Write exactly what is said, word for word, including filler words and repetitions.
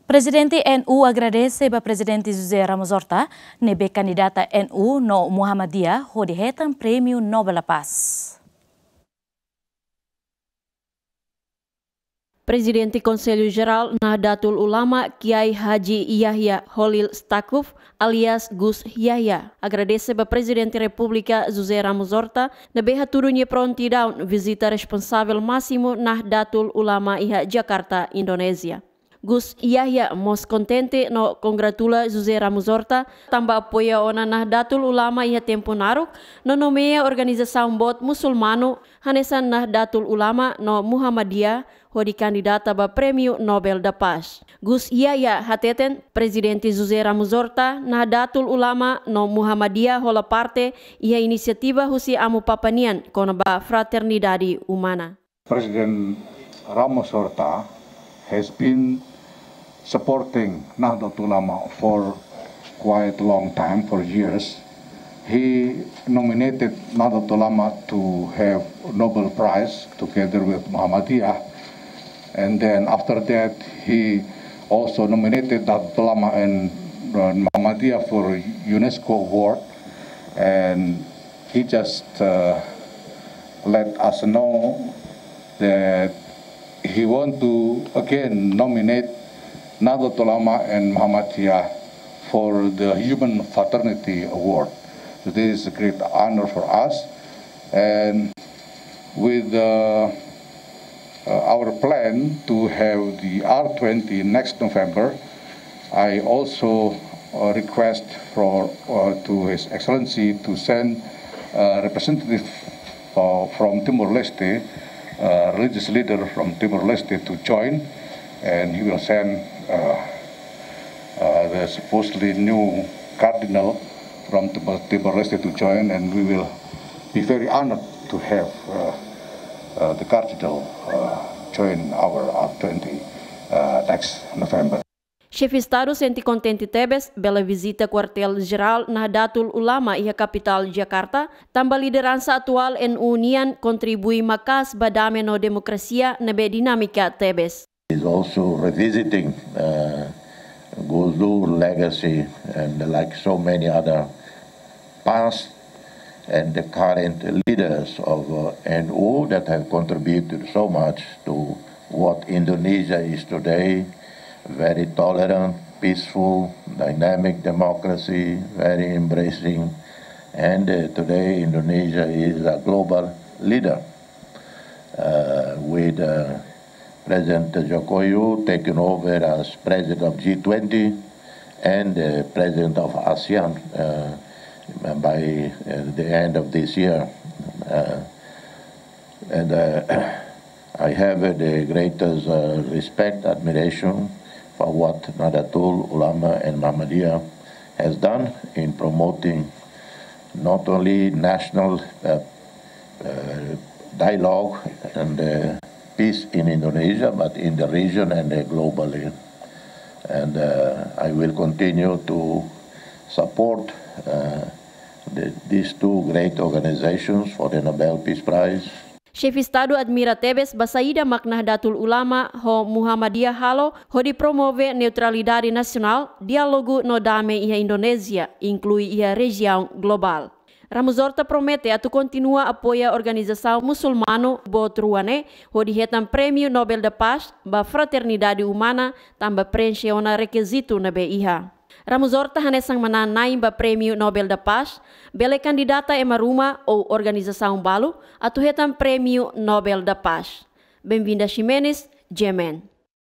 Prezidente N U agradese ba Prezidente José Ramos Horta, ne'ebé kandidata N U no Muhammadiyah hodi hetan Prémiu Nobel da Paz. Prezidente Konsellu Jerál Nahdlatul Ulama, Kiai Haji Yahya Kholil Stakuf, alias Gus Yahya, agradese ba Prezidente Repúblika José Ramos Horta, ne'ebé hatudu nia prontidaun vizita responsavel másimu Nahdlatul Ulama iha Jakarta, Indonézia. Gus Yahya mós kontente no kongratula José Ramos Horta, tanba apoia ona Nahdlatul Ulama iha tempu naruk, no nomeia organizasaun boot musulmanu, hanesan Nahdlatul Ulama no Muhammadiyah, hodi kandidata ba Prémiu Nobel da Paz. Gus Yahya hateten, Prezidente José Ramos Horta, Nahdlatul Ulama no Muhammadiyah hola parte iha inisiativa husi Amu Papa nian kona-ba fraternidade umana. President Ramos Horta has been supporting Nahdlatul Ulama for quite a long time, for years. He nominated Nahdlatul Ulama to have Nobel Prize together with Muhammadiyah. And then after that, he also nominated Nahdlatul Ulama and, uh, Muhammadiyah for UNESCO award. And he just, uh, let us know that he want to again nominate Nahdlatul Ulama and Muhammadiyah for the Human Fraternity Award. So this is a great honor for us. And with, uh, uh, our plan to have the R twenty next November, I also, uh, request for, uh, to His Excellency to send, uh, representative, uh, from Timor-Leste, uh, religious leader from Timor-Leste to join, and he will send, uh, uh, the supposedly new cardinal from Timor-, Timor-Leste to join, and we will be very honored to have, uh, uh, the cardinal, uh, join our R twenty, uh, next November. Xefe Estadu sente kontente tebes bele vizita Kuartél Jerál Nahdlatul Ulama iha kapitál Jakarta, tanba lideransa atuál N U nian kontribui maka'as ba dame no demokrasia ne'ebé dinámika tebes. Is also revisiting, uh, Gus Dur legacy and, like so many other past and the current leaders of, uh, N U that have contributed so much to what Indonesia is today, very tolerant, peaceful, dynamic democracy, very embracing. And, uh, today Indonesia is a global leader, uh, with, uh, President Joko Widodo taking over as President of G twenty and, uh, President of ASEAN, uh, by, uh, the end of this year. Uh, and, uh, I have, uh, the greatest, uh, respect, admiration for what Nahdlatul Ulama and Muhammadiyah has done in promoting not only national, uh, uh, dialogue and, uh, peace in Indonesia, but in the region and, uh, globally. And, uh, I will continue to support, uh, the, these two great organizations for the Nobel Peace Prize. Xefe Estadu admira tebes ba saida mak Nahdlatul Ulama ho Muhammadiyah halo hodi promove neutralidade nasionál, diálogu no dame iha Indonézia, inklui iha rejiaun globál. Ramos Horta promete atu kontinua apoia organizasaun musulmanu boot rua ne'e hodi hetan Prémiu Nobel da Paz ba fraternidade umana, tanba preenxe ona rekizitu ne'ebé iha. Ramos Horta hanesan manán-na'in ba Prémiu Nobel da Paz, bele kandidata ema ruma ou organizasaun balu atu hetan Prémiu Nobel da Paz. Benvinda Ximenes, G M N.